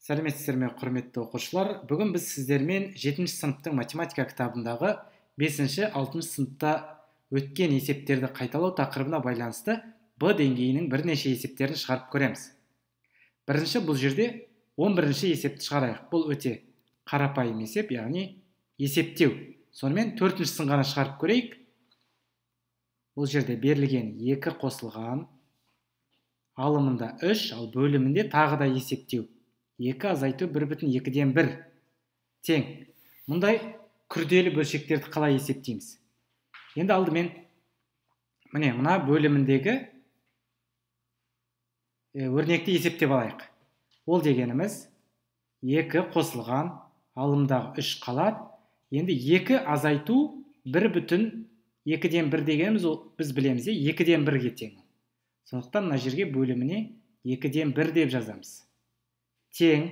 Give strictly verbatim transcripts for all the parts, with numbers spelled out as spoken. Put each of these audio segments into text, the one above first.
Сәлеметсіздер ме, құрметті оқушылар. Бүгін біз сіздермен жетінші сыныптың математика кітабындағы бесінші алтыншы сыныпта өткен есептерді қайталау тақырыбына байланысты Б деңгейінің бірнеше есептерін шығарып көреміз. Бірінші, бұл жерде он бірінші есепті шығарайық. Бұл өте қарапайым есеп, яғни есептеу. Сонымен төртіншісін ғана шығарып көрейік. Бұл жерде берілген екі қосылған, алымында үш, ал бөлімінде тағы да есептеу. екі азайту бір бүтін екіден бір тең. Мұндай күрделі бөлшектерді қалай есептейміз? Енді алдымен міне мына бөліміндегі өрнекті есептеп алайық. Ол дегеніміз екі қосылған, алымдағы үш қалады. Енді екі азайту бір бүтін екіден бір дегеніміз біз білеміз, екіден бірге тең. Сондықтан мына жерге бөліміне екіден бір деп жазамыз. Тең,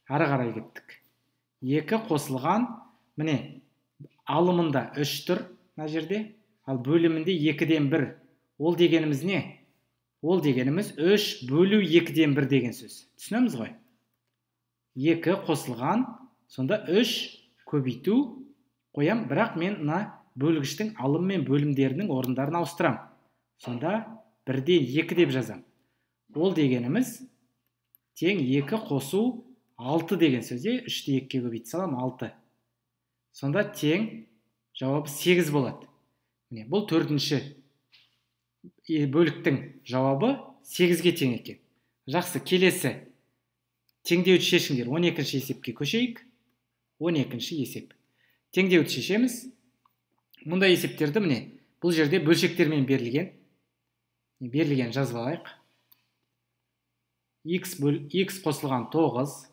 ары қарай кеттік. екі қосылған, міне алымында үш тұр мына жерде, ал бөлімінде екіден бір. Ол дегеніміз не? Ол дегеніміз үш бөлу екіден бір деген сөз. Түсінеміз ғой? екі қосылған, сонда үш көбейту қоям, бірақ мен мына бөлгіштің алым мен бөлімдерінің орындарын ауыстырам. Сонда бірден екі деп жазам. Ол дегеніміз тең екі қосу алты деген сөзде, үшті екіге көбейте салам, алты. Сонда тең жауабы сегіз болады. Міне, бұл төртінші бөліктің жауабы сегізге тең екен. Жақсы, келесі теңдеуді шешіңдер. он екінші есепке көшейік. он екінші есеп. Теңдеуді шешеміз. Мұндай есептерді міне бұл жерде бөлшектермен берілген. Берілген жазып алайық. X, бөл, X қосылған тоғыз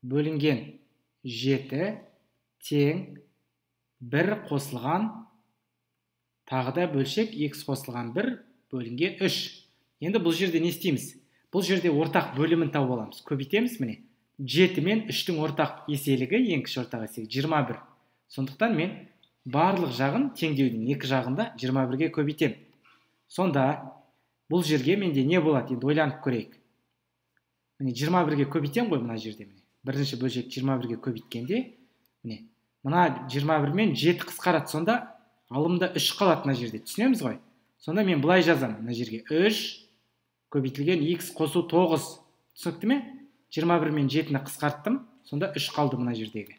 бөлінген жеті тең бір қосылған тағы да бөлшек X қосылған бір бөлінген үш. Енді бұл жерде не істейміз? Бұл жерде ортақ бөлімін тауып аламыз. Көбейтеміз міне. жеті мен үштің ортақ еселігі, ең кіші ортақ еселігі жиырма бір. Сондықтан мен барлық жағын теңдеудің екі жағында жиырма бірге көбейтем. Сонда бұл жерге менде не болады? Енді ойланып көрейік. Міне жиырма бірге көбейтем ғой мына жерде. Міне бірінші бөлшек жиырма бірге көбейткенде, міне мына жиырма бір мен жеті қысқарады. Сонда алымда үш қалады мына жерде. Түсінеміз ғой? Сонда мен былай жазам мына жерге. үш көбейтілген X қосу тоғыз. Түсінікті ме? жиырма бір мен жетіні қысқарттым. Сонда үш қалды мына жердегі.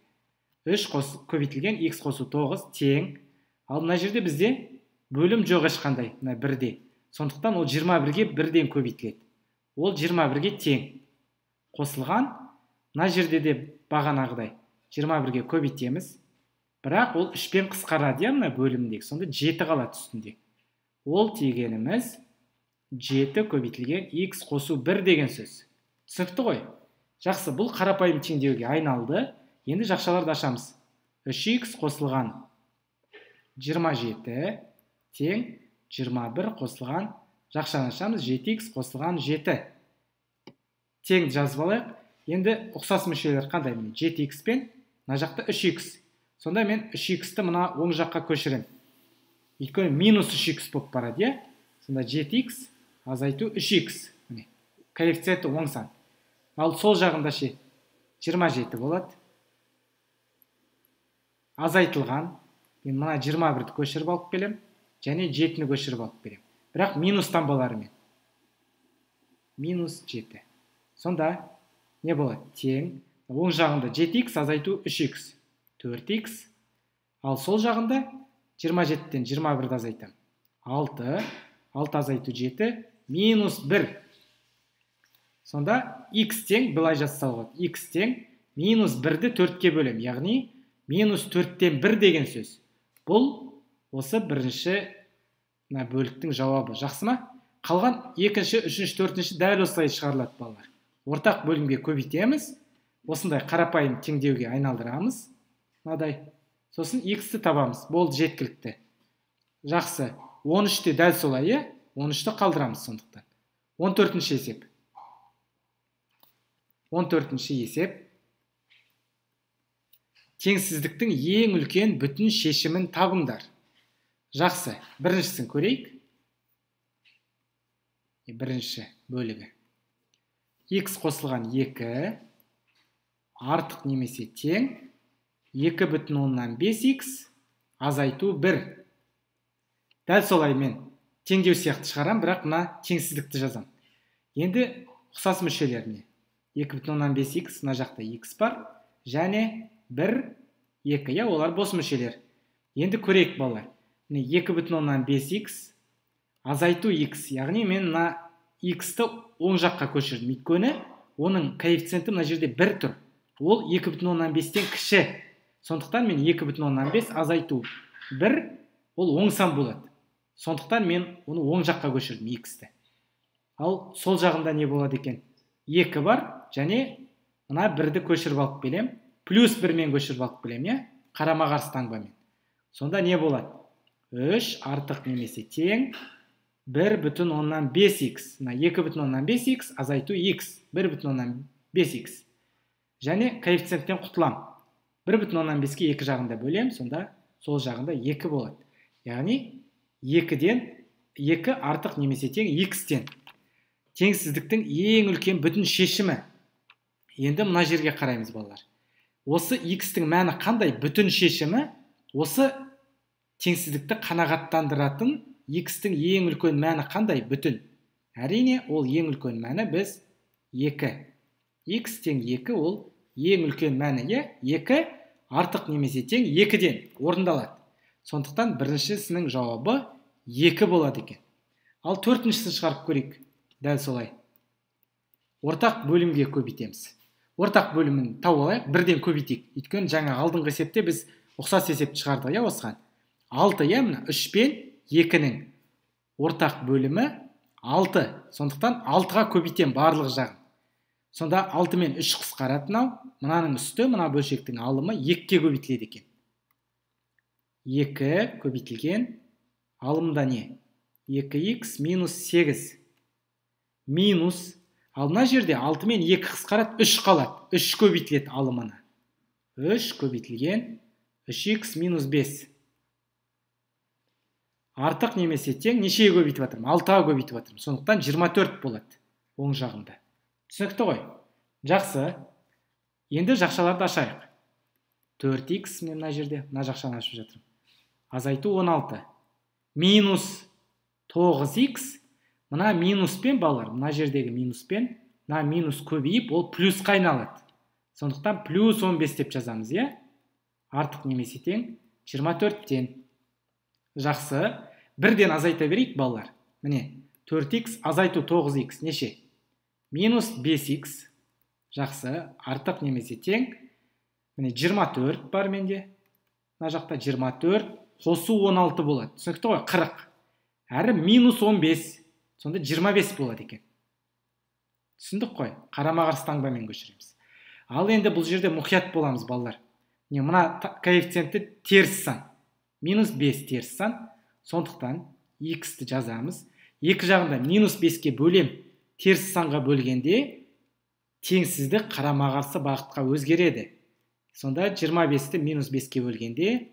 үш көбейтілген X қосу тоғыз тең. Ал мына жерде бізде бөлім жоқ ешқандай, мына бірде. Сондықтан ол жиырма бірге бірден көбейтіледі. Ол жиырма бірге тең. Қосылған, мына жерде де бағанағыдай жиырма бірге көбейтеміз. Бірақ ол үшпен қысқарады, я мына бөлімдегі. Сонда жеті қалады үстінде. Ол дегеніміз жеті көбейтілген X қосу бір деген сөз. Түсінікті ғой? Жақсы, бұл қарапайым теңдеуге айналды. Енді жақшаларды ашамыз. үш икс қосылған жиырма жеті тең жиырма бір қосылған, жақшаны ашамыз, жеті икс қосылған жеті. Тең жазып алайық. Енді ұқсас мүшелер қандай? жеті икс пен мына жақта үш икс. Сонда мен үш иксті мына оң жаққа көшірем. Өйткені минус үш икс болып барады, е? Сонда жеті икс азайту үш икс. Коэффициенті оң сан. Ал сол жағында ше жиырма жеті болады. Азайтылған. Мен мына жиырма бірді көшіріп алып келем, және жетіні көшіріп алып келем. Бірақ минус таңбаларымен. Минус жеті. Сонда не болады? Тең. Оң жағында жеті икс азайту үш икс. төрт икс. Ал сол жағында жиырма жетіден жиырма бірді азайтам. алты. алты азайту жеті. Минус бір. Сонда икс тең, былай жазса болады. Икс тең минус бірді төртке бөлем. Яғни минус төрттен бір деген сөз. Бұл осы бірінші бөліктің жауабы. Жақсы ма? Қалған екінші, үшінші, төртінші дәл осылай шығарылады балалар. Ортақ бөлімге көбейтеміз. Осындай қарапайым теңдеуге айналдырамыз. Мынадай. Сосын иксті табамыз. Болды, жеткілікті. Жақсы. он үште дәл солай, е? он үшті қалдырамыз сондықтан. он төртінші есеп. он төртінші есеп. Теңсіздіктің ең үлкен бүтін шешімін табыңдар. Жақсы. Біріншісін көрейік. Бірінші бөлігі. x қосылған екі артық немесе тең екі бүтін оннан бес икс азайту бір. Дәл солай мен теңдеу сияқты шығарам, бірақ мына теңсіздікті жазам. Енді ұқсас мүшелеріне екі бүтін оннан бес икс, мына жақта x бар, және бір, екі, я олар бос мүшелер. Енді көрейік балалар. екі бүтін оннан бес икс азайту x, яғни мен мына x-ті оң жаққа көшірдім. Өйткені оның коэффициенті мына жерде бір тұр. Ол екі бүтін оннан бестен кіші. Сондықтан мен екі бүтін оннан бес азайту бір, ол оң сан болады. Сондықтан мен оны оң жаққа көшірдім x-ті. Ал сол жағында не болады екен? екі бар, және мына бірді көшіріп алып келем. Плюс бірмен көшіріп алып келем, я? Қарама-қарсы таңбамен. Сонда не болады? үш артық немесе тең бір бүтін оннан бес икс. екі бүтін оннан бес икс азайту x. бір бүтін оннан бес икс. Және коэффициенттен құтылам. бір бүтін оннан беске екі жағында бөлем, сонда сол жағында екі болады. Яғни екіден екі артық немесе тең x-тен. Теңсіздіктің ең үлкен бүтін шешімі. Енді мына жерге қараймыз балалар. Осы x-тің мәні қандай бүтін шешімі? Осы теңсіздікті қанағаттандыратын x-тің ең үлкен мәні қандай бүтін? Әрине, ол ең үлкен мәні біз екі. X тең екі ол ең үлкен мәні, екі артық немесе тең екіден орындалады. Сондықтан біріншісінің жауабы екі болады екен. Ал төртіншісін шығарып көрейік. Дәл солай. Ортақ бөлімге көбейтеміз. Ортақ бөлімін тауып алайық, бірден көбейтейік. Өйткені жаңа алдыңғы есепте біз ұқсас есепті шығардық, я осыған. алты, я мына үш пен екінің ортақ бөлімі алты. Сондықтан алтыға көбейтем барлық жағын. Сонда алты мен үш қысқарады мынау. Мынаның үсті, мына бөлшектің алымы екіге көбейтіледі екен. екі көбейтілген алымда не? екі икс минус сегіз. Минус. Ал мына жерде алты мен екі қысқарады, үш қалады. үш көбейтіледі алымына. үш көбейтілген үш икс минус бес. Артық немесе тең нешеге көбейтіп жатырмын? алтыға көбейтіп жатырмын. Сондықтан жиырма төрт болады оң жағында. Түсінікті ғой? Жақсы. Енді жақшаларды ашайық. төрт икс мен мына жерде, мына жақшаны ашып жатырмын. Азайту он алты. Минус тоғыз икс. Мына минуспен балалар, мына жердегі минуспен, мына минус көбейіп, ол плюсқа айналады. Сондықтан плюс он бес деп жазамыз, е? Артық немесе тең жиырма төрттен. Жақсы. Бірден азайта берейік, балалар. Міне, төрт икс азайту тоғыз икс неше? Минус бес икс. Жақсы. Артық немесе тең. Міне, жиырма төрт бар менде. Мына жақта жиырма төрт. Қосу он алты болады. Түсінікті ғой? қырық. Әрі минус он бес. Сонда жиырма бес болады екен. Түсіндік қой? Қарама-қарсы таңбамен көшіреміз. Ал енді бұл жерде мұқият боламыз, балалар. Не, мына коэффициенті теріс сан. Минус бес теріс сан. Сондықтан иксті жазамыз. Екі жағында минус беске бөлем. Теріс санға бөлгенде теңсіздік қарама-қарсы бағытқа өзгереді. Сонда жиырма бесті минус беске бөлгенде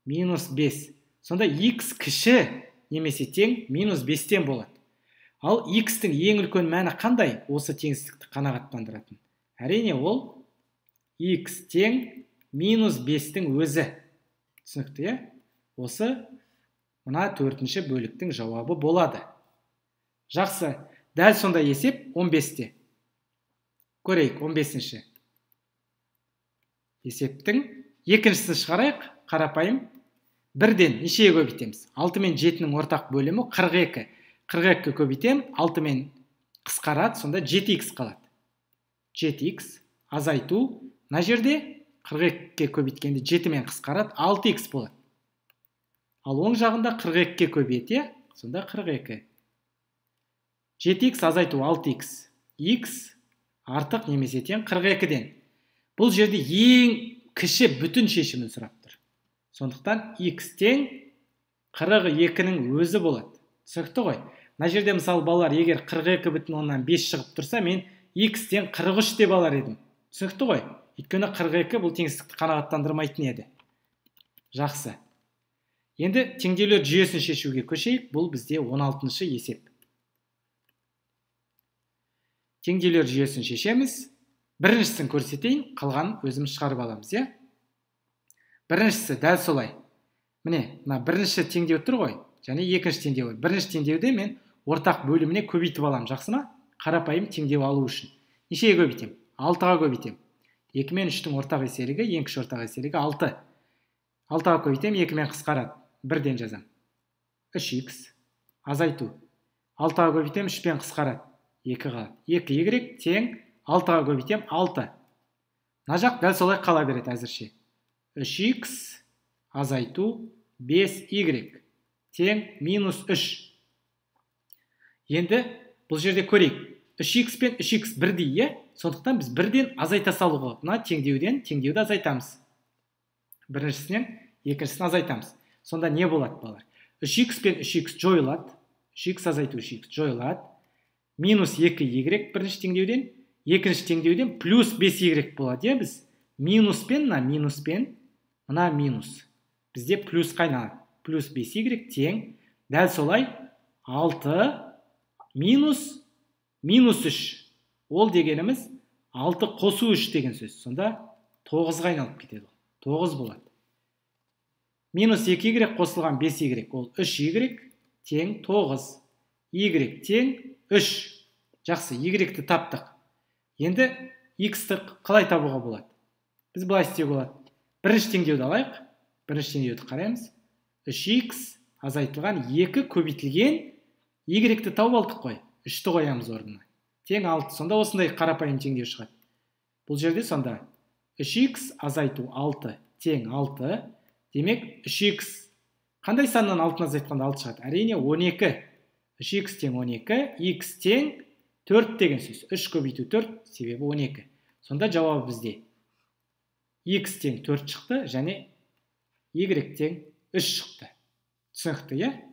минус бес. Сонда икс кіші немесе тең минус бестен болады. Ал икстің ең үлкен мәні қандай осы теңсіздікті қанағаттандыратын? Әрине ол икс тең минус бестің өзі. Түсінікті, е? Осы мына төртінші бөліктің жауабы болады. Жақсы. Дәл сонда есеп он бесте. Көрейік, он бесінші. Есептің екіншісін шығарайық, қарапайым. Бірден нешеге көбейтеміз? алты мен жетінің ортақ бөлімі қырық екі. қырық екі көбейтем, алты мен қысқарады, сонда жеті икс қалады. жеті икс азайту. Мына жерде қырық екіге көбейткенде жеті мен қысқарады, алты икс болады. Ал оң жағында қырық екіге көбейте, сонда қырық екі. жеті икс азайту алты икс. Х артық немесе тең қырық екіден. Бұл жерде ең кіші бүтін шешімін сұрап тұр. Сондықтан х тең қырық екінің өзі болады. Түсінікті ғой? Мына жерде мысалы балалар, егер қырық екі бүтін оннан бес шығып тұрса, мен х тең қырық үш деп алар едім. Түсінікті ғой? Өйткені қырық екі бұл теңсіздікті қанағаттандырмайтын еді. Жақсы. Енді теңдеулер жүйесін шешуге көшейік. Бұл бізде он алтыншы есеп. теңдеулер жүйесін шешеміз. Біріншісін көрсетейін, қалғанын өзіміз шығарып аламыз, иә? Біріншісі дәл солай. Міне, мына бірінші теңдеу тұр ғой, және екінші теңдеу. Бірінші теңдеуде мен ортақ бөліміне көбейтіп аламын, жақсы ма? Қарапайым теңдеу алу үшін. Нешеге көбейтем? алтыға көбейтем. екі мен үштің ортақ еселігі, ең кіші ортақ еселігі алты. алтыға көбейтем, екі мен қысқарады. бірден жазам. үш икс азайту. алтыға көбейтем, үш пен қысқарады. екі қалады. екі y тең алтыға көбейтем, алты. Мына жақ дәл солай қала береді әзірше. үш икс азайту бес y тең минус үш. Енді бұл жерде көрейік. үш икс пен үш икс бірдей, е? Сондықтан біз бірден азайта салуға. Мына теңдеуден теңдеуді азайтамыз. Біріншісінен екіншісін азайтамыз. Сонда не болады, балар? үш икс пен үш икс жойылады. үш икс азайту үш икс жойылады. Минус екі y бірінші теңдеуден, екінші теңдеуден плюс бес y болады, е біз? Минус пен, мына минус пен, мына минус. Бізде плюс қайналады. Плюс бес y тең, дәл солай алты минус минус үш. Ол дегеніміз алты қосу үш деген сөз. Сонда тоғызға айналып кетеді. тоғыз болады. Минус екі y қосылған бес y, ол үш y тең тоғыз. Y тең үш. Жақсы, y-ті таптық. Енді x-ті қалай табуға болады? Біз былай істеуге болады. Бірінші теңдеуді алайық. Бірінші теңдеуді қараймыз. үш икс азайтылған екі көбейтілген y-ті тауып алдық қой. үшті қоямыз орнына. Тең алты. Сонда осындай қарапайым теңдеу шығады. Бұл жерде сонда үш икс азайту алты тең алты. Демек үш икс қандай саннан алтыны азайтқанда алты шығады? Әрине он екі. үш икс тең он екі, x тең төрт деген сөз. үш көбейту төрт, себебі он екі. Сонда жауабы бізде x тең төрт шықты, және y тең үш шықты. Түсінікті, е?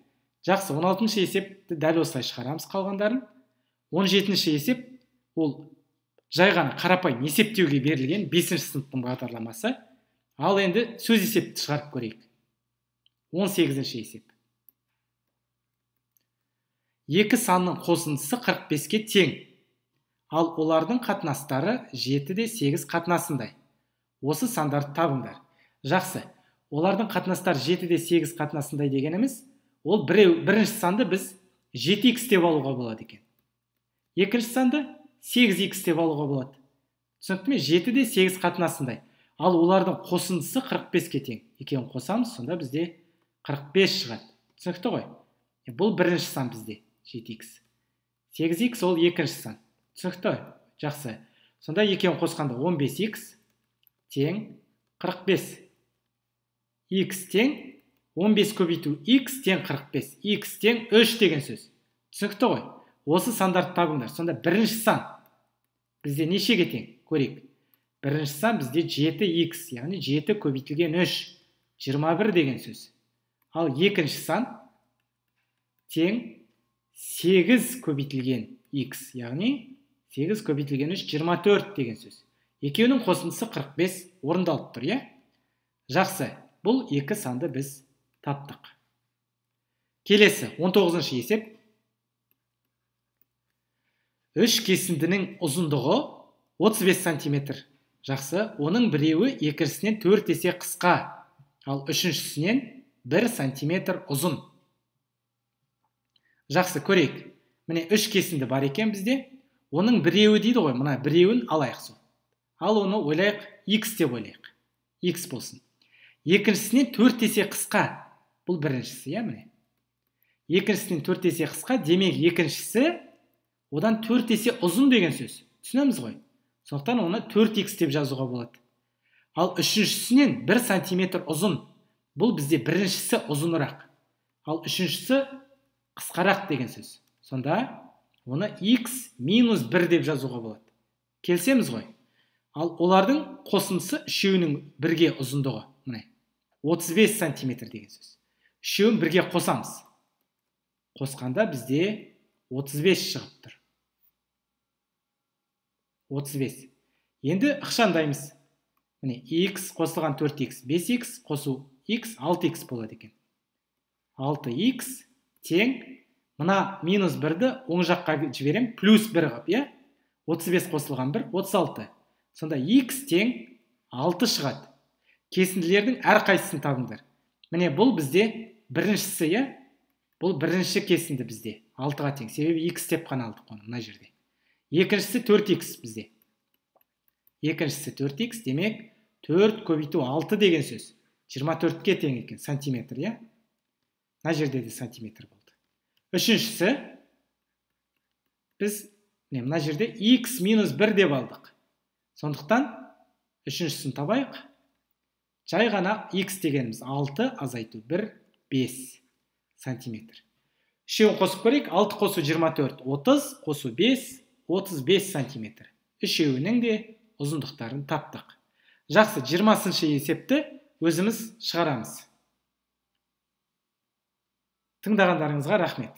Жақсы, он алтыншы есепті дәл осылай шығарамыз қалғандарын. он жетінші есеп, ол жай ғана қарапайым есептеуге берілген бесінші сыныптың бағдарламасы. Ал енді сөз есепті шығарып көрейік. он сегізінші есеп. Екі санның қосындысы қырық беске тең. Ал олардың қатынастары жеті де сегіз қатынасындай. Осы сандарды табыңдар. Жақсы. Олардың қатынастары жеті де сегіз қатынасындай дегеніміз, ол біреу, бірінші санды біз жеті икс деп алуға болады екен. Екінші санды сегіз икс деп алуға болады. Түсінікті ме? жеті де сегіз қатынасындай. Ал олардың қосындысы қырық беске тең. Екеуін қосамыз, сонда бізде қырық бес шығады. Түсінікті ғой? Бұл бірінші сан бізде, жеті икс. сегіз икс ол екінші сан. Түсінікті? Жақсы. Сонда екеуін қосқанда он бес икс тең қырық бес. X тең он бес көбейту x тең қырық бес. X тең үш деген сөз. Түсінікті ғой? Осы сандарды табыңдар. Сонда бірінші сан бізде нешеге тең? Көрейік. Бірінші сан бізде жеті икс, яғни жеті көбейтілген үш, жиырма бір деген сөз. Ал екінші сан тең сегіз көбейтілген x, яғни сегіз көбейтілген үш, жиырма төрт деген сөз. Екеуінің қосындысы қырық бес орындалып тұр, е? Жақсы. Бұл екі санды біз таптық. Келесі, он тоғызыншы есеп. Үш кесіндінің ұзындығы отыз бес сантиметр. Жақсы, оның біреуі екіншісінен төрт есе қысқа, ал үшіншісінен бір сантиметр ұзын. Жақсы, көрейік. Міне үш кесінді бар екен бізде. Оның біреуі дейді ғой, мына біреуін алайық сол. Ал оны ойлайық, x деп ойлайық. X болсын. Екіншісінен төрт есе қысқа. Бұл біріншісі, е, міне. Екіншісінен төрт есе қысқа, демек екіншісі одан төрт есе ұзын деген сөз. Түсінеміз ғой? Сондықтан оны төрт икс деп жазуға болады. Ал үшіншісінен бір сантиметр ұзын. Бұл бізде біріншісі ұзынырақ. Ал үшіншісі қысқарақ деген сөз. Сонда оны x минус бір деп жазуға болады. Келсеміз ғой? Ал олардың қосындысы үшеуінің бірге ұзындығы. Міне, отыз бес сантиметр деген сөз. Үшеуін бірге қосамыз. Қосқанда бізде отыз бес шығып тұр. отыз бес. Енді ықшамдаймыз. Міне, x қосылған төрт икс, бес икс қосу x, алты икс болады екен. алты икс тең, мына минус бірді оң жаққа жіберем, плюс бір қып, е? отыз бес қосылған бір, отыз алты. Сонда x тең алты шығады. Кесінділердің әр қайсысын табыңдар. Міне бұл бізде біріншісі, е? Бұл бірінші кесінді бізде. алтыға тең. Себебі x деп қана алдық оны мына жерде. Екіншісі төрт икс бізде. Екіншісі төрт икс, демек төрт көбейту алты деген сөз. жиырма төртке тең екен, сантиметр, е? Мына жерде де сантиметр болды. Үшіншісі, біз мына жерде x минус бір деп алдық. Сондықтан үшіншісін табайық. Жай ғана x дегеніміз алты, азайту бір, бес сантиметр. Үшеуін қосып көрейік. алты қосу жиырма төрт, отыз, қосу бес, отыз бес сантиметр. Үшеуінің де ұзындықтарын таптық. Жақсы, жиырмасыншы есепті өзіміз шығарамыз. Тыңдағандарыңызға рахмет.